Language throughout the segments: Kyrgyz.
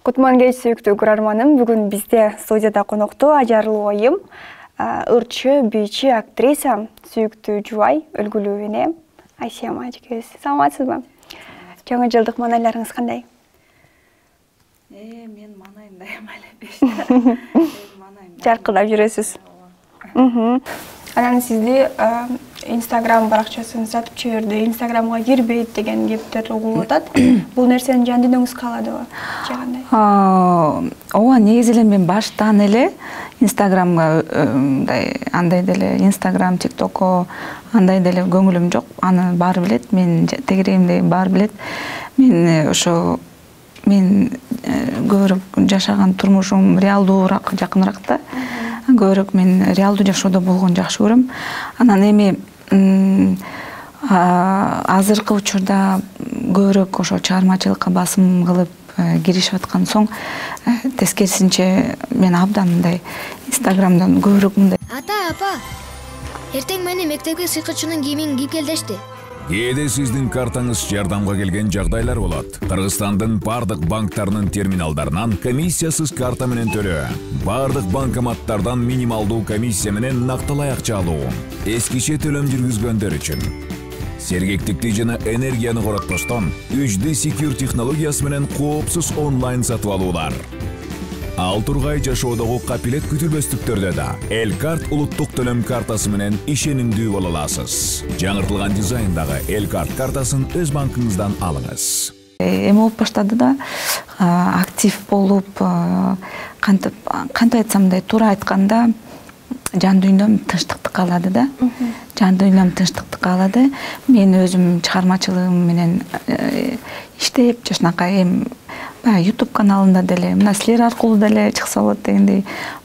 Кутман кеч сүйүктүү көрөрманым. Бүгүн бизде студияда конокто ажарлуу айым, ырчы, бийчи, актриса, сүйүктүү жубай, өлгүлүү эне Айсия Мажикебиз. Саламатсызбы? Жаңы жылдык маанайларыңыз кандай? Мен маанайымдай эле Жаркырап жүрөсүз. Анан сизди Instagram баракчасын сатып жиберди, Instagramга кирбейт деген кептер угулуп атат. Бул нерсени жан дүйнөңүз кааладыбы? Же кандай? Ооба, негизи эле мен баштан эле Instagramга андай деле Instagram, TikTokко андай деле көңүлүм жок. Аны баары билет, мен тегерегимде баары билет. Мен ошо көбүрөөк жашаган турмушум реалдуураак, жакыныраак да. Көбүрөөк мен реалдуу жашоодо болгону жакшы көрөм. Анан эми азыркы учурда көбүрөөк ошо чыгармачылыкка басым кылып киришип аткан соң, тескерисинче мен абдан мындай Instagramдан көбүрөөк мындай. Апа, эртең мени мектепке сыйкычынын кийимин кийип кел дешти. Кээде сиздин картаңыз жардамга келген жагдайлар болот. Кыргызстандын бардык банктарынын терминалдарынан комиссиясыз карта менен төлөө. Бардык банкоматтардан минималдуу комиссия менен накталай акча алуу. Эскиче төлөм жүргүзгөндөр үчүн. Сергектикти жана энергияны коротпостон 3D Secure технологиясы менен коопсуз онлайн сатып алуулар. Ал тургай жашоодогу капилет күтүлбөстүктөрдө да Элкарт улуттук төлөм картасы менен ишенимдүү боло аласыз. Жаңыртылган дизайндагы Элкарт картасын өз банкыңыздан алыңыз. Эми болуп баштады да, актив болуп, кантип айтсам мындай туура айтканда, жан дүйнөм тынчтыкты каалады да. Жан дүйнөм тынчтыкты каалады. Мен өзүм чыгармачылыгым менен иштеп, жашынакай YouTube каналында деле, мына силер аркылуу деле чыкса болот дегендей.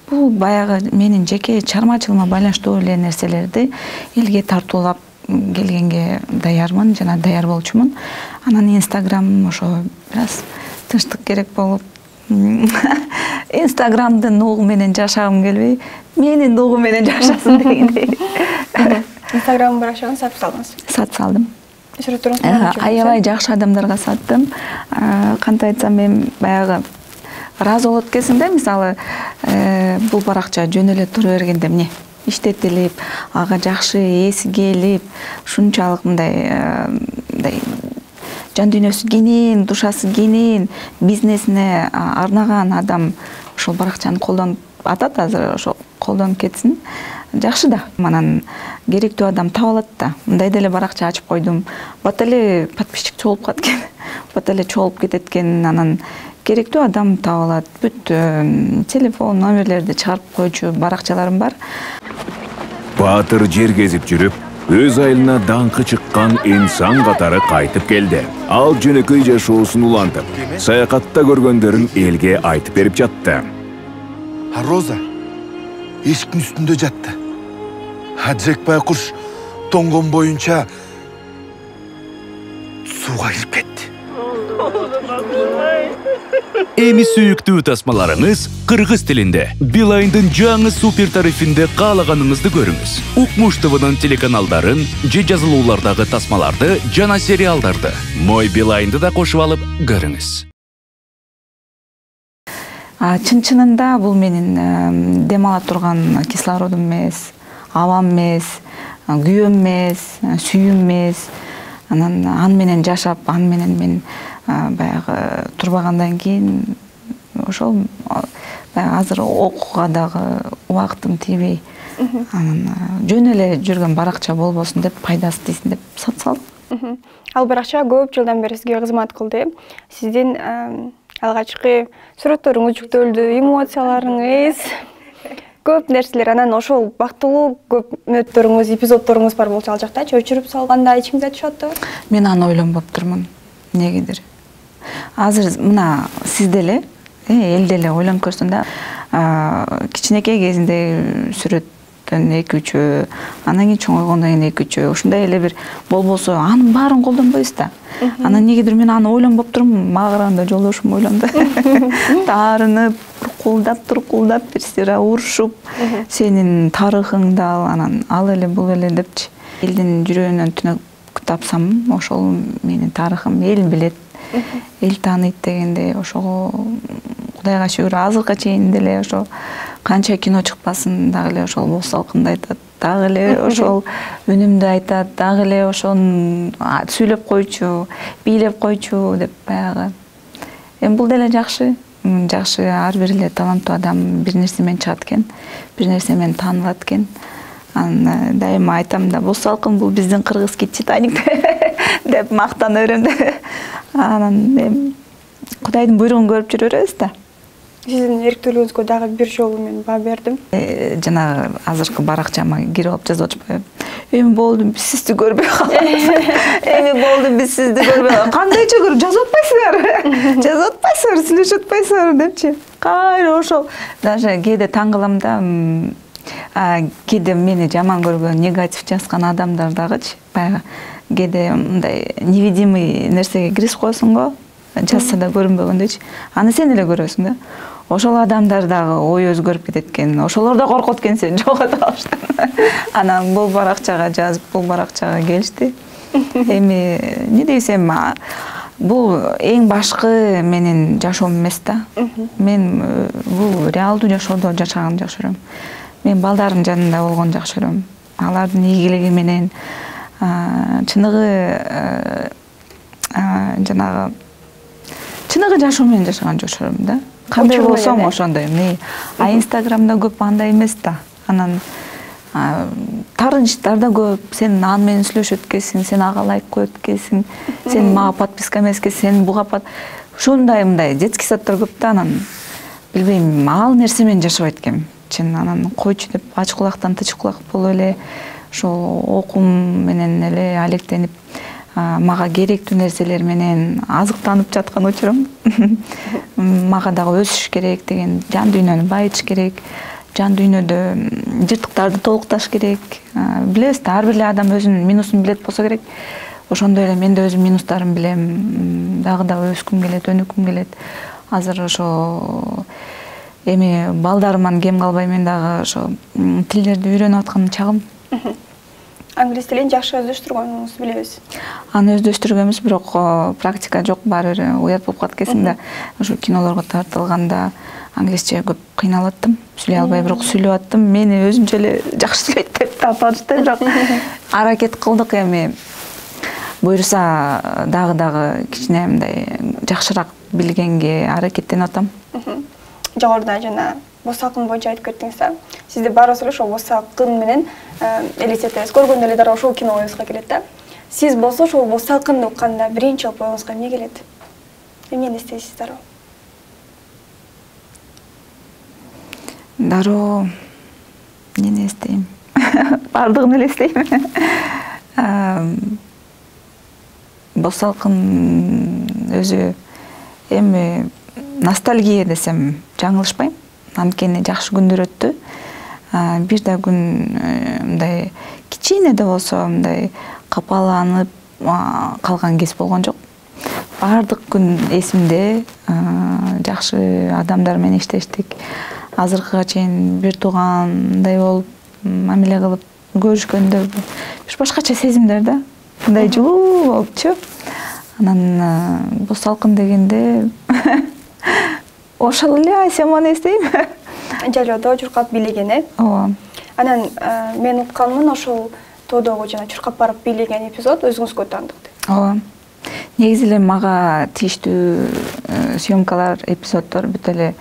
Бул баягы менин жеке чыгармачылыгыма байланыштуу эле нерселерди элге тартуулап келгенге даярмын жана даяр болчумун. Анан Instagram ошо бир аз тынчтык керек болуп, Instagramдын ногу менен жашагым келбей, менин ногу менен жашасын дегендей. Instagram баракчаны сатып салдыңыз? Сатып салдым. Сүрөттөрүңүз аябай жакшы адамдарга саттым. Кантип айтсам, мен баягы ыраазы болот экенсиң да, мисалы, бул баракча жөн эле тура бергенде эмне иштетилип, ага жакшы эси келип, ушунчалык мындай жан дүйнөсү кенен, душасы кенен, бизнесине арнаган адам ошол баракчаны колдонуп атат, азыр ошо колдонуп кетсин. Жакшы да. Анан керектүү адам таап алат да. Мындай деле баракча ачып койдум. Бат эле подписчик чогулуп калат экен. Бат эле чогулуп кетет экен. Анан керектүү адам таап алат. Бүт телефон номерлерди чыгарып койчу баракчаларым бар. Баатыр жер кезип жүрүп, өз айылына даңкы чыккан инсан катары кайтып келди. Ал жөнөкөй жашоосун улантып, саякатта көргөндөрүн элге айтып берип жатты. Роза эшиктин үстүндө жатты. Джек байкуш тоңгон боюнча сууга кирип кетти. Эми сүйүктүү тасмаларыңыз кыргыз тилинде. Билайндын жаңы супер тарифинде каалаганыңызды көрүңүз. Укмуш ТВнын телеканалдарын, же жазылуулардагы тасмаларды жана сериалдарды Мой Билайнды да кошуп алып көрүңүз. Чын-чынында бул менин дем ала турган кислородум эмес, абам эмес, күйөөм эмес, сүйүүм эмес. Анан аны менен жашап, аны менен мен баягы турбагандан кийин ошол баягы азыр окууга дагы убактым тийбей, анан жөн эле жүргөн баракча болбосун деп, пайдасы тийсин деп сатып салдым. Ал баракча көп жылдан бери сизге кызмат кылды. Сиздин алгачкы сүрөттөрүңүз жүктөлдү, эмоцияларыңыз, көп нерселер. Анан ошол бактылуу көп мүнөттөрүңүз, эпизоддоруңуз бар болчу ал жактачы, өчүрүп салганда ичиңиз ачып атты? Мен аны ойлонбоп турмун, эмнегедир. Азыр мына сиз деле, эл деле ойлонуп көрсүн да, кичинекей кезинде сүрөттөн 2-3, анан кийин чоңойгондон кийин 2-3, ушундай эле бир болбосо, анын баарын колдонбойбуз да. Анан негедир мен аны ойлонбоп турмун, мага караганда жолдошум ойлонду. Таарынып, туркулдап, бир сыйра урушуп, сенин тарыхыңды ал, анан ал эле бул эле депчи. Элдин жүрөгүнөн түнөк тапсам, ошол менин тарыхым, эл билет. эл тааныйт дегенде ошого Кудайга шүгүр азыркыга чейин деле ошо канча кино чыкпасын дагы эле ошол Боз салкынды айтат, дагы эле ошол үнүмдү айтат, дагы эле ошону сүйлөп койчу, бийлеп койчу деп баягы. Эми бул деле жакшы. Жакшы, ар бир эле таланттуу адам бир нерсе менен чыгат экен, бир нерсе менен таанылат экен. Анан дайыма айтам да, Боз салкын бул биздин кыргызский Титаник деп мактана берем да. Анан Кудайдын буйругун көрүп жүрө беребиз да. Сиздин эриктүүлүгүңүзгө дагы бир жолу мен баа бердим. Жанагы азыркы баракчама кирип алып жазып атышпайбы? Эми болду, биз сизди көрбөй калабыз. Эми болду, биз сизди көрбөй калабыз. Кандайча көрүп жазып атпайсыңар? Жазып атпайсыңар, сүйлөшүп атпайсыңар депчи. Кайра ошол. Даже кээде таң калам да, кээде мени жаман көргөн, негатив жазган адамдар дагычы, баягы кээде мындай невидимый нерсеге киришип коесуң го, жазса да көрүнбөгөндөйчү. Аны сен эле көрөсүң да. Ошол адамдар дагы ой өзгөрүп кетет экен. Ошолор да коркот экен сени жоготуп алыштан. Анан бул баракчага жазып, бул баракчага келишти. Эми эмне дейсем, бул эң башкы менин жашоом эмес да. Мен бул реалдуу жашоодо жашаганды жакшы көрөм. Мен балдарымдын жанында болгонду жакшы көрөм. Алардын ийгилиги менен чыныгы жашоо менен жашаганды жакшы көрөм да. Кандай болсоң ошондой. Инстаграмда көп андай эмес да. Анан таарынычтар да көп. Сен аны менен сүйлөшөт экенсиң, сен ага лайк коет экенсиң, сен мага подписка эмес экенсиң, сен буга ушундай мындай детский садтар көп да. Анан билбейм, ал нерсе менен жашабайт экенмин. Анан койчу деп ач кулактан тыч кулак болуп эле ошол окуум менен эле алектенип, мага керектүү нерселер менен азыктанып жаткан учурум. Мага дагы өсүш керек деген, жан дүйнөнү байытыш керек, жан дүйнөдө жыртыктарды толукташ керек. Билебиз да, ар бир эле адам өзүнүн минусун билет болсо керек. Ошондой эле мен да өзүм минустарымды билем, дагы өскүм келет, өнүккүм келет. Азыр ошо эми балдарыман кем калбай мен дагы ошо тилдерди үйрөнүп аткан чагым. Англис тилин жакшы өздөштүргөнүңүздү билебиз. Аны өздөштүргөнбүз, бирок практика жок, баары бир уят болуп калат экенсиң да. Ошо кинолорго тартылганда англисче көп кыйналып аттым, сүйлөй албай, бирок сүйлөп аттым. Мени өзүнчө эле жакшы сүйлөйт деп тапатышты, бирок аракет кылдык. Эми буюрса дагы кичине мындай жакшыраак билгенге аракеттенип атам. Жогоруда жана Боз салкын боюнча айтып кеттиңиз да. Сизди баарыбыз эле ошол Боз салкын менен элестетебиз. Көргөндө эле дароо ошол кино оюңузга келет да. Сиз болсо ошол Боз салкынды укканда биринчи оюңузга эмне келет? Эмнени эстейсиз дароо? Дароо эмнени эстейм? Бардыгын эле эстейм. Боз салкын өзү эми ностальгия десем жаңылышпайм. Анткени жакшы күндөр өттү. Бир да күн мындай кичине да болсо мындай капаланып калган кез болгон жок. Бардык күн эсимде, жакшы адамдар менен иштештик. Азыркыга чейин бир туугандай болуп, мамиле кылып көрүшкөндө бир башкача сезимдер да. Мындай жылуу болупчу. Анан Боз салкын дегенде ошол эле Асяманы эстейм. Жалоодо чуркап бийлеген, Ооба. Анан мен укканмын, ошол тоодогу жана чуркап барып бийлеген эпизод өзүңүзгө таандык. Ооба. Негизи эле мага тийиштүү съемкалар, эпизоддор бүт эле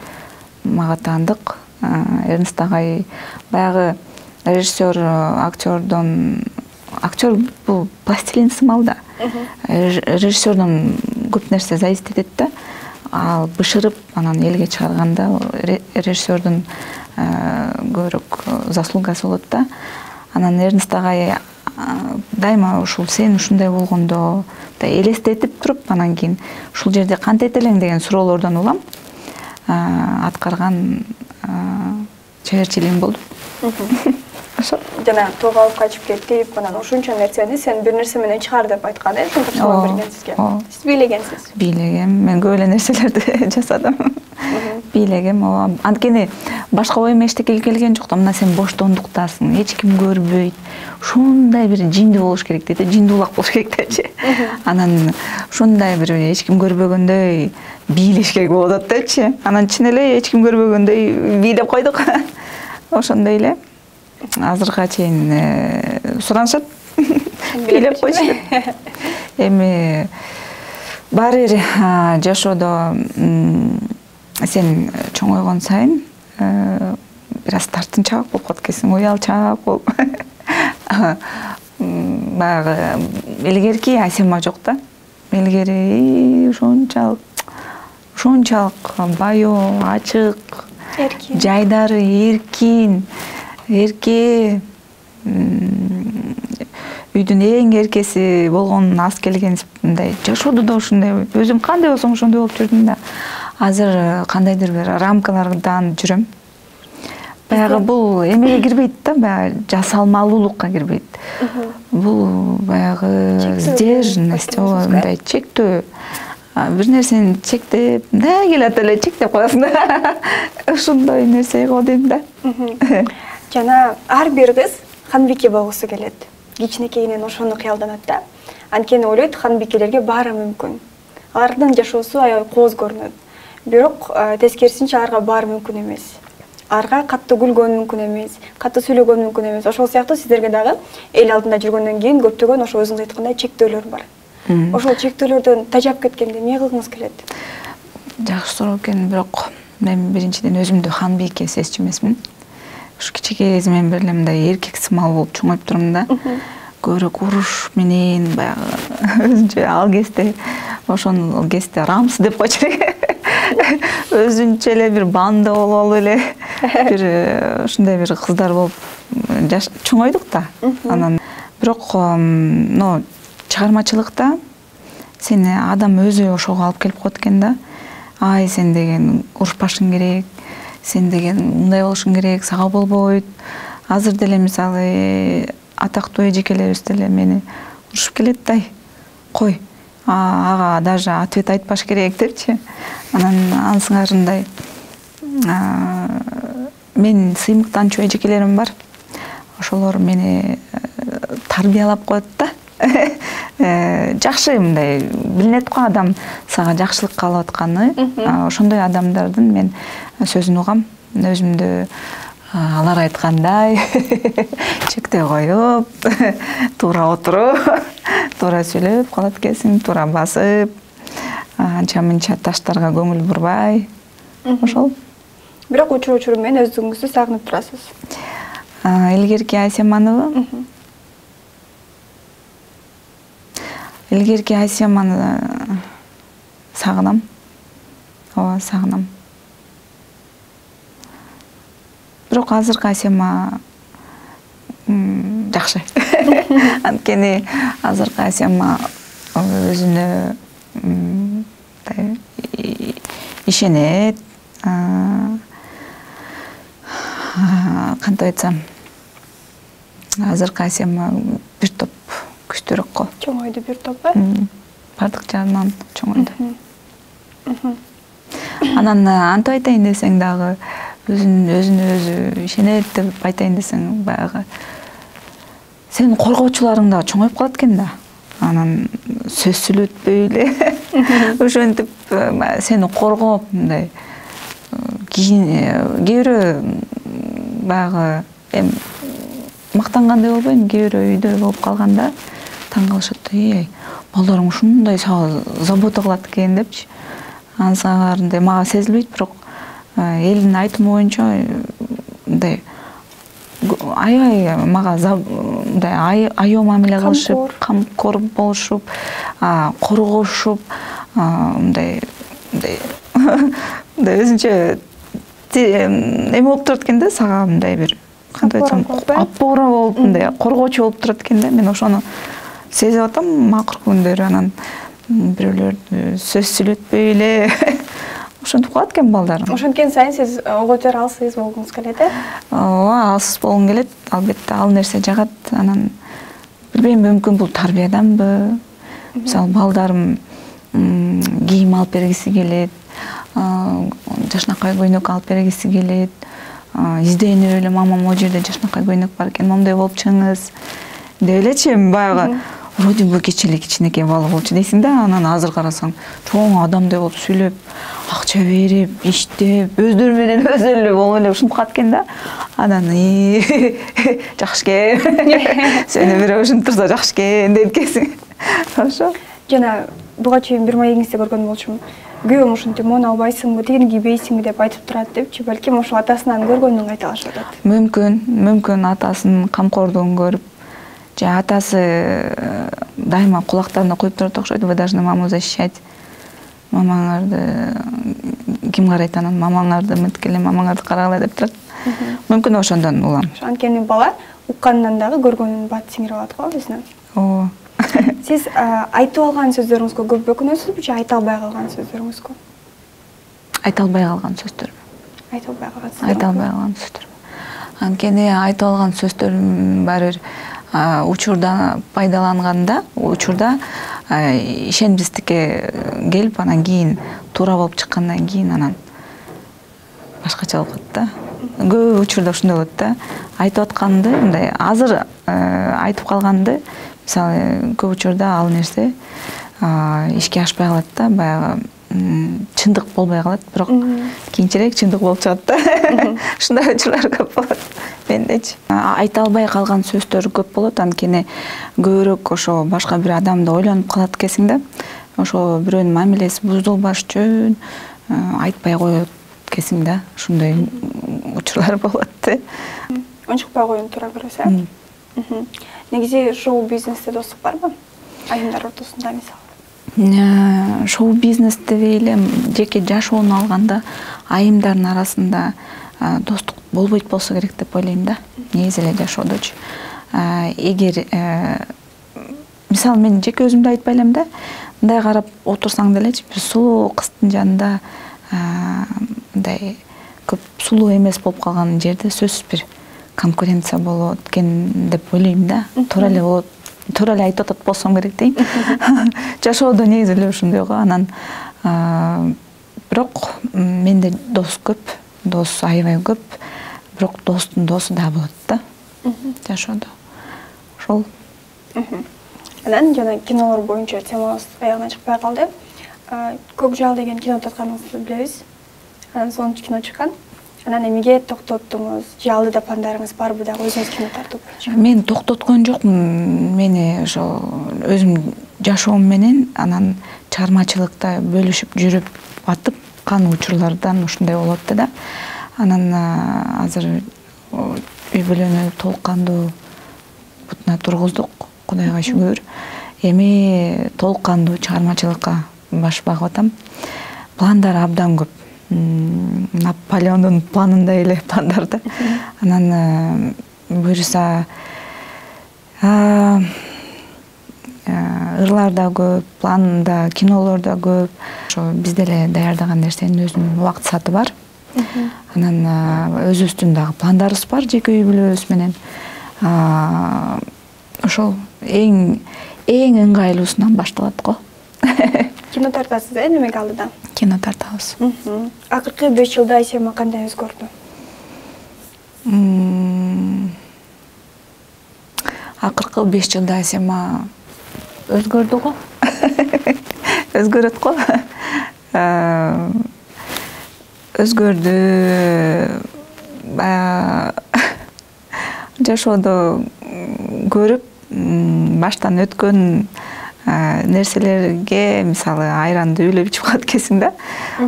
мага таандык. Эрнст агай баягы режиссер, актер бул пластилин сымал да. Режиссердон көп нерсе зависит этет да. Ал бышырып, анан элге чыгарганда режиссердун көбүрөөк заслугасы болот да. Анан Эрнст агай дайыма ушул сен ушундай болгондо элестетип туруп, анан кийин ушул жерде кантет элең деген суроолордон улам аткарган чеберчилигим болду. жана тоого алып качып кетип, анан ушунча нерсени сен бир нерсе менен чыгар деп айткан, ошентип салам берген сизге. Сиз бийлегенсиз. Бийлегем. Мен көп эле нерселерди жасадым. Бийлегем. Анткени башка оюм эчтеке келген жок да. Мына сен боштондуктасың, эч ким көрбөйт. Ушундай бир жинди болуш керек дейт, жинди улак болуш керек депчи. Анан ушундай бир эч ким көрбөгөндөй бийлеш керек болуп атат депчи. Анан чын эле эч ким көрбөгөндөй бийлеп койдук. Ошондой эле. Азыркыга чейин суранышат. Бийлеп койчу. Эми баары бир жашоодо сен чоңойгон сайын бир аз тартынчаак болуп калат экенсиң, уялчаак болуп. Баягы илгерки Асема жок да. Илгери ушунчалык баяу, ачык, жайдары эркин, эрке, үйдүн эң эркеси болгон аз келген мындай жашоодо да ушундай өзүм кандай болсоң ошондой болуп жүрдүм да. Азыр кандайдыр бир рамкалардан жүрөм. Баягы бул эмеге кирбейт да, баягы жасалмалуулукка кирбейт. Бул баягы сдержанность, мындай чектөө. Бир нерсени чектеп, мындай келет эле чектеп коесуң да. Ушундай нерсе го дейм да. Жана ар бир кыз ханбике болгусу келет. Кичинекейинен ошону кыялданат да. Анткени ойлойт, ханбикелерге баары мүмкүн. Алардын жашоосу аябай кооз көрүнөт. Бирок тескерисинче аларга баары мүмкүн эмес. Аларга катты күлгөн мүмкүн эмес, катты сүйлөгөн мүмкүн эмес. Ошол сыяктуу сиздерге дагы эл алдында жүргөндөн кийин көптөгөн ошо өзүңүз айткандай чектөөлөр бар. Ошол чектөөлөрдөн тажап кеткенде эмне кылгыңыз келет? Жакшы суроо экен, бирок мен биринчиден өзүмдү ханбике сезчү эмесмин. Ушу кичике кезимден бери эле мындай эркек сымал болуп чоңоюп турмун да. Көбүрөөк уруш менен баягы өзүнчө ал кезде ошол кезде рамс деп койчу элек. Өзүнчө эле бир банда болуп эле бир ушундай бир кыздар болуп чоңойдук да. Анан бирок чыгармачылыкта сени адам өзү ошого алып келип коет экен да. Ай, сен деген урушпашың керек, сен деген мындай болушуң керек, сага болбойт. Азыр деле мисалы атактуу эжекелерибиз деле мени урушуп келет да. Кой, ага даже ответ айтпаш керек депчи. Анан ансыңарындай мен сыймыктанчу эжекелерим бар. Ошолор мени тарбиялап коет да. Жакшы мындай билинет го адам сага жакшылык каалап атканы. Ошондой адамдардын мен сөзүн угам. Өзүмдү алар айткандай чектей коюп, туура отуруп, туура сүйлөп калат экенсиң, туура басып, анча-мынча таштарга көңүл бурбай. Ошол. Бирок учур менен өзүңүздү сагынып турасыз. Илгерки Асеманыбы? Илгерки Асеманы сагынам. Ооба, сагынам. Бирок азыркы Асема жакшы. Анткени азыркы Асема өзүнө ишенет. Кантип айтсам, азыркы Асема бир топ күчтүүрөөк го. Чоңойду бир топ ба? Бардык жагынан чоңойду. Анан антип айтайын десең дагы өзүнө өзү ишенет деп айтайын десең баягы сенин коргоочуларың да чоңоюп калат экен да. Анан сөз сүйлөтпөй эле ошентип сени коргоп мындай кээ бирөө баягы мактангандай болбойм, кээ бирөө үйдө болуп калганда таң калышат. Балдарың ушундай сага забота кылат экен депчи. Ансыңарындай мага сезилбейт, бирок элдин айтымы боюнча мындай аябай мага мындай аял мамиле кылышып, камкор болушуп, коргошуп, мындай өзүнчө эме болуп турат экен да, сага мындай бир кантип айтсам опора болуп, мындай коргоочу болуп турат экен да. Мен ошону сезип атам акыркы күндөрү. Анан бирөөлөр сөз сүйлөтпөй эле ошентип калат экен балдарым. Ошенткен сайын сиз оготер алсыз болгуңуз келет, Ооба, алсыз болгум келет. Албетте ал нерсе жагат. Анан билбейм, мүмкүн бул тарбияданбы. Мисалы балдарым кийим алып бергиси келет, жашнакай көйнөк алып бергиси келет, изденип эле мама могу жерде жашнакай көйнөк бар экен, момундай болуп чыгыңыз деп элечи. Баягы вроде бы кичи кичинекей бала болчу дейсиң да, анан азыр карасаң чоң адамдай болуп сүйлөп, акча берип, иштеп, өздөрү менен өзү эле болуп эле ушинтип калат экен да. Анан жакшы экен, сени бирөө ушинтип турса жакшы экен дейт экенсиң. Ошо. Жана буга чейин бир маегиңизде көргөн болчумун. Күйөөм ушинтип моуну албайсыңбы, тигини кийбейсиңби деп айтып турат депчи, балким ошол атасынан көргөнүн кайталашып атат. Мүмкүн атасынын камкордугун көрүп, же атасы дайыма кулактарына коюп турат окшойт. Вы должны маму защищать. Мамаңарды ким карайт анан, мамаңарды мынткиле, мамаңарды карагыла деп турат. Мүмкүн ошондон улам. Анткени бала укканынан дагы көргөнүн бат сиңирип алат го өзүнө. Ооба. Сиз айтып алган сөздөрүңүзгө көп өкүнөсүзбү же айта албай калган сөздөрүңүзгө? Айта албай калган сөздөр. Айта албай калган сөздөр. Айта албай калган сөздөр. Анткени айта алган сөздөрүм баары бир учурда пайдаланганда, учурда ишенимсиздикке келип, анан кийин туура болуп чыккандан кийин анан башкача болуп калат да. Көп учурда ушундай болот да. Айтып атканды, мындай азыр айтып калганды, мисалы көп учурда ал нерсе ишке ашпай калат да, баягы чындык болбой калат, бирок кийинчерээк чындык болуп чыгат да. Ушундай учурлар көп болот мендечи. Айта албай калган сөздөр көп болот, анткени көбүрөөк ошо башка бир адамды ойлонуп калат экенсиң да. Ошо бирөөнүн мамилеси бузулбаш үчүн айтпай коет экенсиң да. Ушундай учурлар болот да. Ончукпай коюуну туура көрөсүз. Негизи шоу бизнесте достук барбы? Айымдар ортосунда мисалы. Шоу бизнес дебей эле жеке жашоону алганда айымдардын арасында достук болбойт болсо керек деп ойлойм да. Негизи эле жашоодочу. Эгер мисалы мен жеке өзүмдү айтпай элем да, мындай карап отурсаң делечи, бир сулуу кыздын жанында мындай көп сулуу эмес болуп калган жерде сөзсүз бир конкуренция болот экен деп ойлойм да. Туура эле болот. Туура эле айтып атат болсом керек дейм. Жашоодо негизи эле ушундай го. Анан бирок менде дос көп, дос аябай көп. Бирок достун досу да болот да. Жашоодо. Ошол. Анан жана кинолор боюнча темабыз аягына чыкпай калды. Көк жал деген кино татканыңызды билебиз. Анан сонун кино чыккан. Анан эмнеге токтоттуңуз? Же алдыда пландарыңыз барбы дагы өзүңүз кино тартуу боюнча? Мен токтоткон жокмун. Мени ошо өзүм жашоом менен анан чыгармачылыкта бөлүшүп жүрүп атып кан учурлардан ушундай болуп атты да. Анан азыр үй бүлөнү толук кандуу бутуна тургуздук, Кудайга шүгүр. Эми толук кандуу чыгармачылыкка баш багып атам. Пландар абдан көп. Наполеондун планындай эле пландар да. Анан буюрса ырлар да көп, план да, кинолор да көп. Ошо биз деле даярдаган нерсенин өзүнүн убакыт сааты бар. Анан өзүбүздүн дагы пландарыбыз бар жеке үй бүлөбүз менен. Ошол эң ыңгайлуусунан башталат го. Кино тартасыз, немеге алдыда? Кино тартабыз. Акыркы 5 жылда Айсема кандай өзгөрдү? Акыркы 5 жылда Айсема өзгөрдү го. Өзгөрөт го. Өзгөрдү. Жашоодо көрүп, баштан өткөн нерселерге, мисалы, айранды үйлөп ичип калат экенсиң да.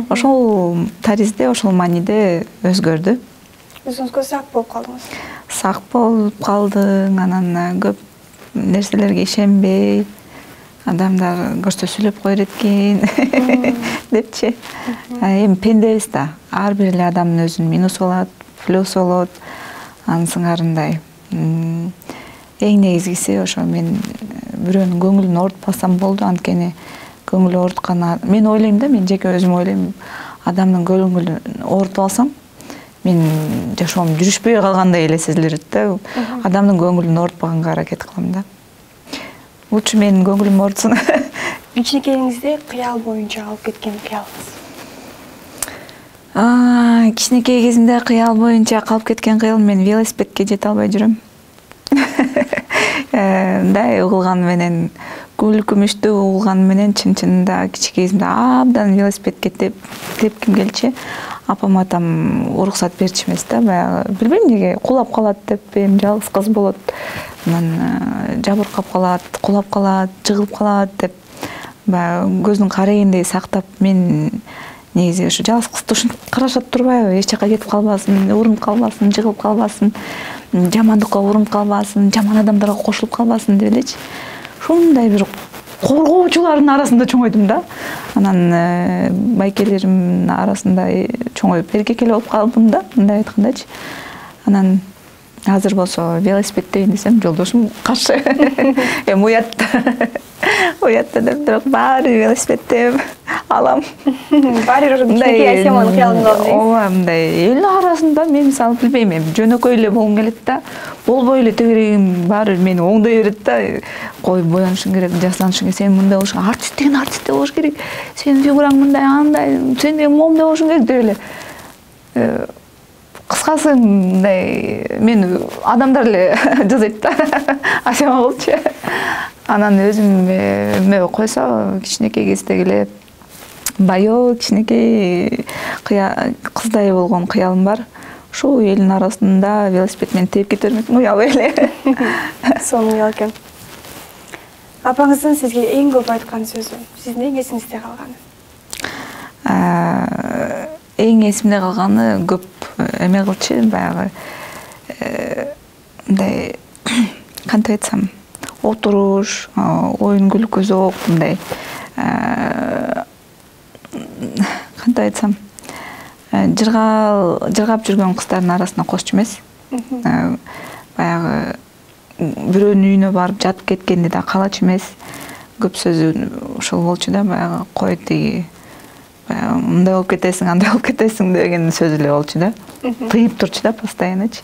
Ошол таризде, ошол мааниде өзгөрдү. Өзүңүзгө сак болуп калдыңыз. Сак болуп калдың, анан көп нерселерге ишенбей, адамдар көрсө сүйлөп коер экен депчи. Эми пендебиз да. Ар бир эле адамдын өзүнүн минусу болот, плюсу болот. Анын сыңарындай. Эң негизгиси ошо мен бирөөнүн көңүлүн оорутпасам болду, анткени көңүл ооруткан мен ойлойм да, мен жеке өзүм ойлойм, адамдын көңүлүн оорутуп алсам, мен жашоом жүрүшпөй калгандай эле сезилет да. Адамдын көңүлүн оорутпаганга аракет кылам да. Лучше менин көңүлүм оорутсын. Кичинекейиңизде кыял боюнча алып кеткен кыялыңыз? Кичинекей кезимде кыял боюнча калып кеткен кыялым, мен велосипедке жете албай жүрөм. Мындай угулган менен, гүл күмүштүү угулган менен чын-чынында кичинекей кезимде абдан велосипедке тепким келчү. Апам атам уруксат берчү эмес да, баягы билбейм эмнеге кулап калат деп, эми жалгыз кыз болот. Анан жабыркап калат, кулап калат, жыгылып калат деп баягы көздүн карайгындей сактап, мен негизи ушу жалгыз кызды ушинтип карашат турбайбы, эч жака кетип калбасын, урунуп калбасын, жыгылып калбасын, жамандыкка урунуп калбасын, жаман адамдарга кошулуп калбасын деп элечи. Ушундай бир коргоочулардын арасында чоңойдум да. Анан байкелеримдин арасында чоңоюп эркек эле болуп калдым да, мындай айткандачы. Анан азыр болсо велосипедтейин десем, жолдошум каршы. Эми уятта деп, бирок баары велосипедте алам. Баары кичинекей Асияманын кыялында дейсиз. Ооба, мындай эл арасында мен мисалы билбейм, эми жөнөкөй эле болгум келет да. Болбой эле тегерегим баары мени оңдой берет да. Кой боянышың керек, жасланышың керек, сен мындай болуш керек, артист деген артистте болуш керек. Сенин фигураң мындай, андай, сен деген момундай болушуң керек деп эле. Кыскасы мындай мен адамдар эле жазайт да. Асема болчу. Анан өзүм койсо кичинекей кездеги эле байоо кичинекей кыздай болгон кыялым бар. Ушул элдин арасында велосипед менен тээп кете бермекмин, уялбай эле. Сонун уял экен. Апаңыздын сизге эң көп айткан сөзү, сиздин эң эсиңизде калганы? Эң эсимде калганы көп эме кылчу, баягы мындай кантип айтсам, отуруш, оюн күлкү зоок, мындай кантип айтсам, жыргап жүргөн кыздардын арасына кошчу эмес. Баягы бирөөнүн үйүнө барып жатып кеткенди да каалачу эмес. Көп сөзү ошол болчу да, баягы кой тиги мындай болуп кетесиң, андай болуп кетесиң деген сөз эле болчу да. Тыйып турчу да постояннычы.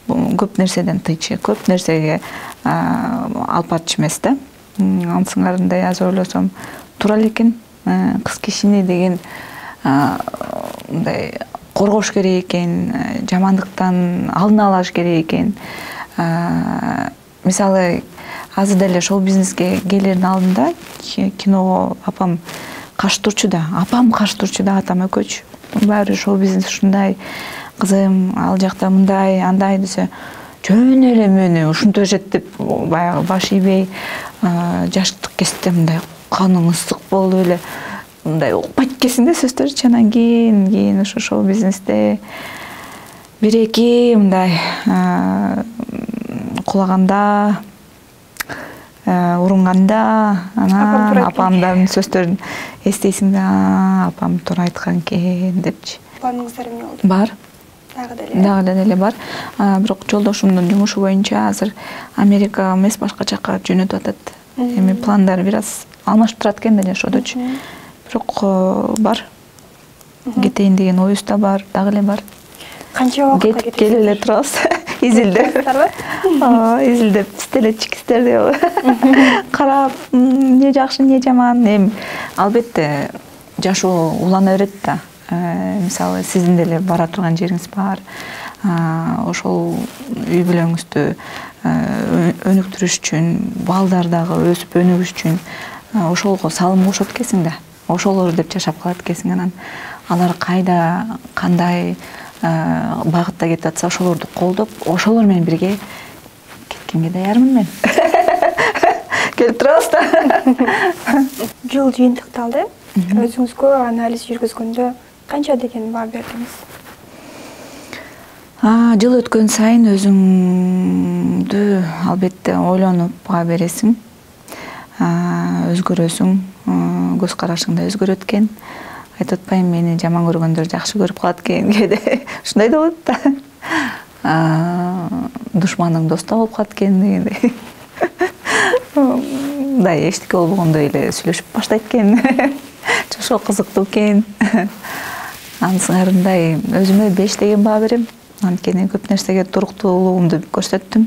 Көп нерседен тыйчу, көп нерсеге алып барчу эмес да. Ансыңарындай азыр ойлосом туура эле экен. Кыз кишини деген мындай коргош керек экен, жамандыктан алдын алаш керек экен. Мисалы, азыр деле шоу бизнеске келердин алдында киного апам каршы турчу да, атам экөөчү. Баары шоу бизнес ушундай, кызым ал жакта мындай, андай десе, жөн эле мени ушинтип беришет деп баягы баш ийбей, жаштык кезде мындай каның ысык болуп эле мындай укпайт экенсиң да сөздөрчү. Анан кийин ошо шоу бизнесте бир-эки мындай кулаганда, урунганда, анан апамдын сөздөрүн эстейсиң да, апам туура айткан экен депчи. Планыңыздар эмне болду? Бар. Дагы деле бар. Бирок жолдошумдун жумушу боюнча азыр Америка эмес, башка жакка жөнөтүп атат. Эми пландар бир аз алмашып турат экен да жашоодочу. Бирок бар. Кетейин деген оюбуз да бар, дагы эле бар. Канча убакытка кетип келе эле турабыз. Изилдеп. Изилдеп, стелечик истерди. Карап, эмне жакшы, эмне жаман. Эми албетте жашоо улана берет да. Мисалы, сиздин деле бара турган жериңиз бар. Ошол үй бүлөңүздү өнүктүрүш үчүн, балдар дагы өсүп өнүгүш үчүн ошолго салым кошот экенсиң да. Ошолор деп жашап калат экенсиң. Анан алар кайда, кандай багытта кетип атса, ошолорду колдоп, ошолор менен бирге кеткенге даярмын мен. Келип турабыз да. Жыл жыйынтыкталды. Өзүңүзгө анализ жүргүзгөндө канча деген баа бердиңиз? Жыл өткөн сайын өзүңдү албетте ойлонуп баа бересиң. Өзгөрөсүң, көз карашың да өзгөрөт экен. Айтып атпайм, мени жаман көргөндөр жакшы көрүп калат экен, кээде ушундай да болот да. Душманың доста болуп калат экен дегендей. Мындай эчтеке болбогондой эле сүйлөшүп баштайт экен. Жашоо кызыктуу экен. анын сыңарындай өзүмө 5 деген баа берем. Анткени көп нерсеге туруктуулугумду көрсөттүм,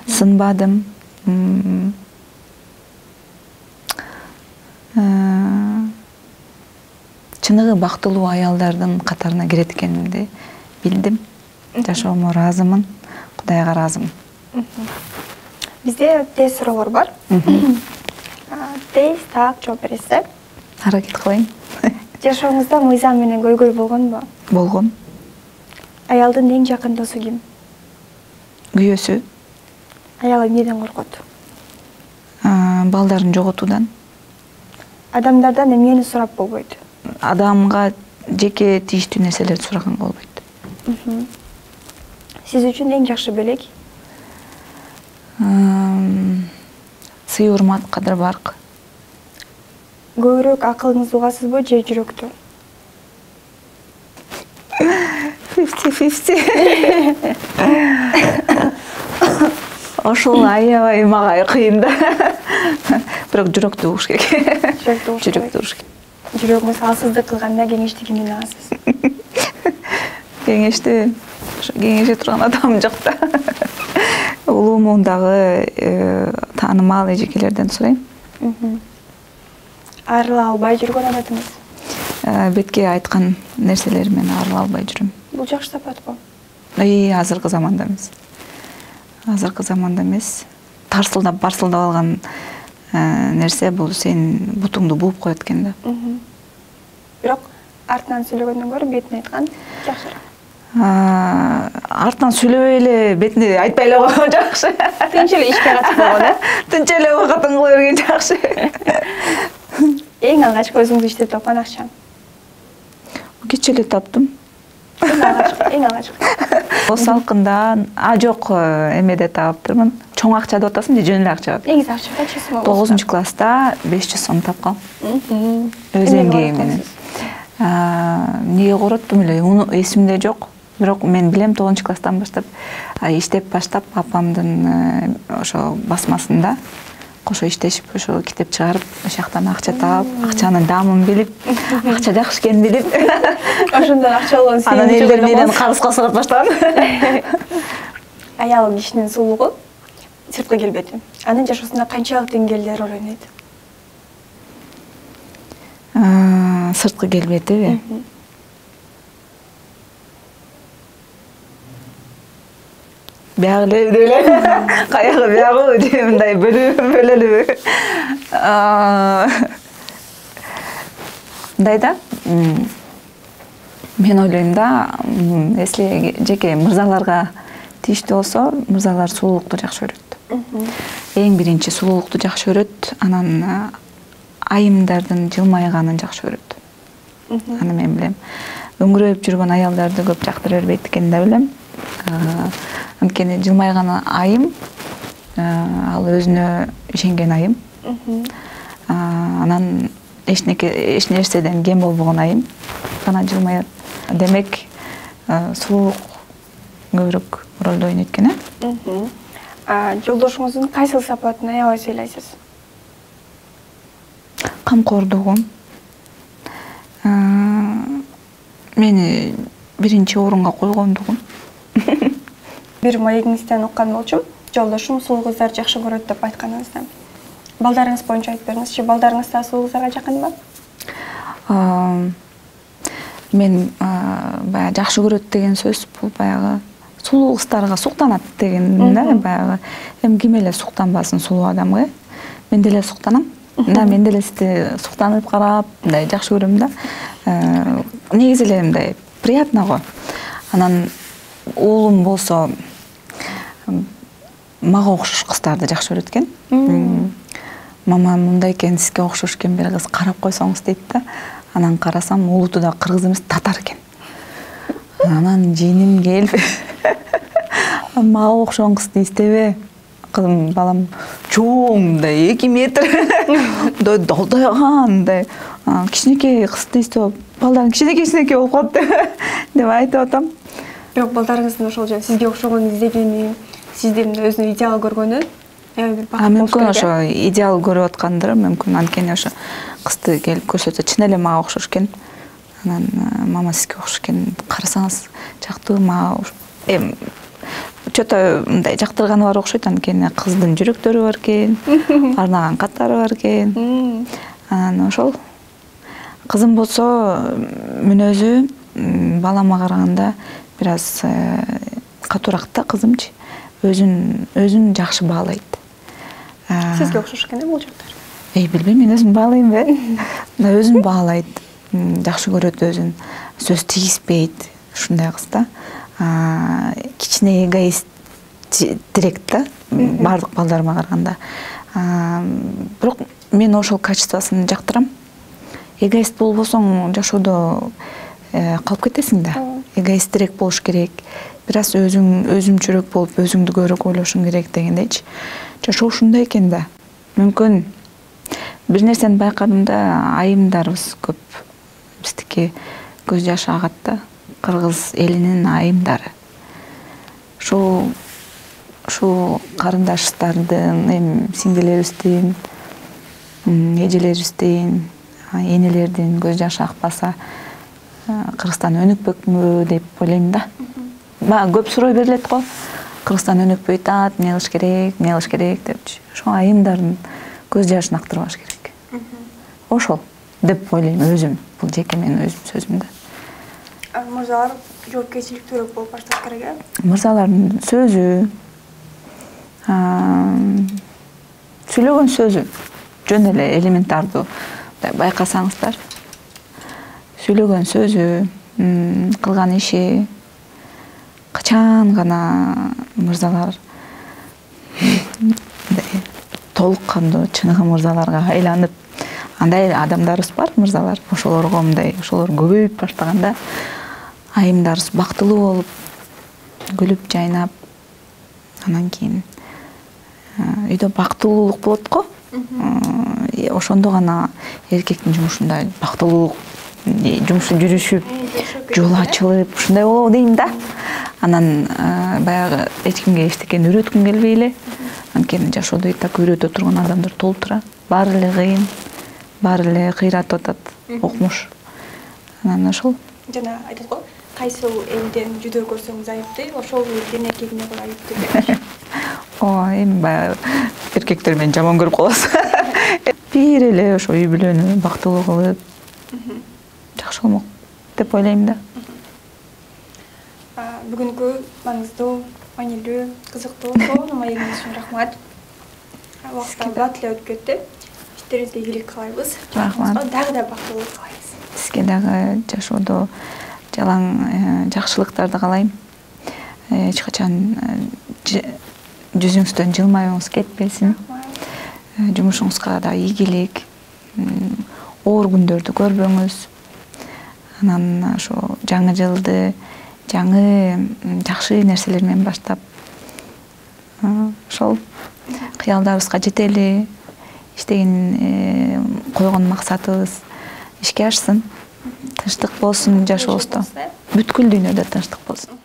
сынбадым. Чыныгы бактылуу аялдардын катарына кирет экенимди билдим. Жашоомо ыраазымын, Кудайга ыраазымын. Бизде тез суроолор бар. Тез так жооп бересиз. Аракет кылайын. Жашооңузда мыйзам менен көйгөй болгонбу? Болгон. Аялдын эң жакын досу ким? Күйөөсү. Аял эмнеден коркот? Балдарын жоготуудан. Адамдардан эмнени сурап болбойт? Адамга жеке тийиштүү нерселерди сураганга болбойт. Сиз үчүн эң жакшы белек? Сый урмат, кадыр барк. Көбүрөөк акылыңызды угасызбы же жүрөктү? 50-50. Ошол аябай мага кыйын да. Бирок жүрөктү угуш керек. Жүрөктү угуш керек. Жүрөгүңүз алсыздык кылганда кеңешти кимден аласыз? Кеңешти кеңеше турган адам жок да. Улуумундагы таанымал эжекелерден сурайм. Арыла албай жүргөн адатыңыз? Бетке айткан нерселер менен арыла албай жүрөм. Бул жакшы сапатпы? Азыркы заманда эмес. Азыркы заманда эмес. Тарсылдап, барсылдап алган нерсе бул сенин бутуңду бууп коет экен да. Бирок артынан сүйлөгөндөн көрө бетине айткан жакшыраак. Артынан сүйлөбөй эле бетине айтпай эле койгон жакшы. Тынч эле ишке катып койгон, Тынч эле убакытын кыла берген жакшы. Эң алгачкы өзүңүз иштеп тапкан акча? Кече эле таптым. Эң алгачкы. Салкында, жок, эмеде таптырмын. Чоң акча деп атасың же жөн эле акча? Негизи акча канча сом? 9-класста 500 сом тапкан. Өз эмгеги менен. Эмнеге короттум эле, эсимде жок. Бирок мен билем 9-класстан баштап иштеп баштап апамдын ошо басмасында кошо иштешип, ошо китеп чыгарып, ошол жактан акча таап, акчанын даамын билип, акча жакшы экенин билип, ошондон акча алган сен. Анан элдер менен карызга сурап баштаган. Аял кишинин сулуулугу сырткы келбети. Анын жашоосунда канчалык деңгээлде роль ойнойт? Сырткы келбетиби? Биягы эле, каягы биягы же мындай бөлөлүбү? Мындай да, мен ойлойм да, если жеке мырзаларга тийиштүү болсо, мырзалар сулуулукту жакшы көрөт. Эң биринчи сулуулукту жакшы көрөт, анан айымдардын жылмайганын жакшы көрөт. Аны мен билем. Өңгүрөп жүргөн аялдарды көп жактыра бербейт экенин да билем. Анткени жылмайган айым, ал өзүнө ишенген айым. Анан эч нерседен кем болбогон айым гана жылмаят. Демек, сулуулук көбүрөөк ролду ойнойт экен, Жолдошуңуздун кайсыл сапатын аябай сыйлайсыз? Камкордугун. Мени биринчи орунга койгондугун. Бир маегиңизден уккан болчумун, жолдошум сулуу кыздарды жакшы көрөт деп айтканыңызда. Балдарыңыз боюнча айтып бериңизчи, балдарыңыз да сулуу кыздарга жакынбы? Мен баягы жакшы көрөт деген сөз бул баягы сулуу кыздарга суктанат деген да, баягы. Эми ким эле суктанбасын сулуу адамга? Мен деле суктанам. Мен деле сизди суктанып карап, мындай жакшы көрөм да. Негизи эле мындай приятно го. Анан уулум болсо мага окшош кыздарды жакшы көрөт экен. Мама мындай экен, сизге окшош экен, бир кыз карап койсоңуз дейт да. Анан карасам, улуту да кыргыз эмес, татар экен. Анан жииним келип, мага окшогон кызды издебе. Кызым, балам чоң, мындай 2 метр, мындай долдойган, мындай кичинекей кызды издеп, балдарың кичинекей болуп калды деп айтып атам. Бирок балдарыңыздын ошол жөн сизге окшогон издегени, сизди өзүнө идеал көргөнү бир бакыт. Мүмкүн ошо идеал көрүп аткандыр, мүмкүн. Анткени ошо кызды келип көрсөтсө чын эле мага окшош экен. Анан мама сизге окшош экен, карасаңыз жактыбы, мага чөтө мындай жактырганы бар окшойт. Анткени кыздын жүрөктөрү бар экен, арнаган каттары бар экен. Анан ошол кызым болсо мүнөзү балама караганда бир аз катуураак да. Кызымчы өзүн жакшы баалайт. Сизге окшош экен бул жактар. Билбейм, мен өзүм баалайм өзүн баалайт, жакшы көрөт өзүн, сөз тийиспейт, ушундай кыз да. Кичине эгоист директ да, баардык балдарыма караганда. Бирок мен ошол качествосын жактырам. Эгоист болбосоң жашоодо калып кетесиң да. Эгоистирээк болуш керек. Бир аз өзүмчүрөөк болуп, өзүңдү көбүрөөк ойлошуң керек дегендейчи. Жашоо ушундай экен да. Мүмкүн бир нерсени байкадым да, айымдарыбыз көп. Биздики көз жашы агат да. Кыргыз элинин айымдары. Ушул карындаштардын, эми сиңдилерибиздин, эжелерибиздин, энелердин көз жашы акпаса, Кыргызстан өнүкпөкмү деп ойлойм да. Мага көп суроо берилет го. Кыргызстан өнүкпөйт, эмне кылыш керек депчи. Ошо айымдардын көз жашын актырбаш керек. Ошол деп ойлойм өзүм. Бул жеке менин өзүм сөзүм да. Мырзалар жоопкерчиликтүүрөөк болуп башташ керек. Мырзалардын сөзү, сүйлөгөн сөзү жөн эле элементардуу байкасаңыздар. Сүйлөгөн сөзү, кылган иши, качан гана мырзалар толук кандуу чыныгы мырзаларга айланып, андай адамдарыбыз бар, мырзалар. Ошолорго ошолор көбөйүп баштаганда айымдарыбыз бактылуу болуп, күлүп жайнап, анан кийин үйдө бактылуулук болот го. Ошондо гана эркектин жумушунда бактылуулук, жумушу жүрүшүп, жол ачылып, ушундай болобу дейм да. Анан баягы эч кимге эчтекени үйрөткүм келбей эле. Анткени жашоодо и так үйрөтө турган адамдар толтура. Баары эле кыйын, баары эле кыйратып атат, окмуш. Анан ошол. Жана айтат го, кайсы элден жүдөө көрсөңүз айыпты, ошол элдин эркегине коy айыпты деп. Эми баягы эркектер мени жаман көрүп каласыз. Бир эле ошо үй бүлөнү бактылуу кылып, жакшы болмок деп ойлойм да. Бүгүнкү маңыздуу, маанилүү, кызыктуу сонун маегиңиз үчүн рахмат. Убакыт бат эле өтүп кетти. Иштериңизге ийгилик каалайбыз. Рахмат. Дагы да бактылуулук каалайбыз. Сизге дагы жашоодо жалаң жакшылыктарды каалайм. Эч качан жүзүңүздөн жылмаюңуз кетпесин. Жумушуңузга да ийгилик. Оор күндөрдү көрбөңүз. Анан ошо жаңы жылды жаңы жакшы нерселер менен баштап, ошол кыялдарыбызга жетели, иштеген койгон максатыбыз ишке ашсын. Тынчтык болсун жашообузда. Бүткүл дүйнөдө тынчтык болсун.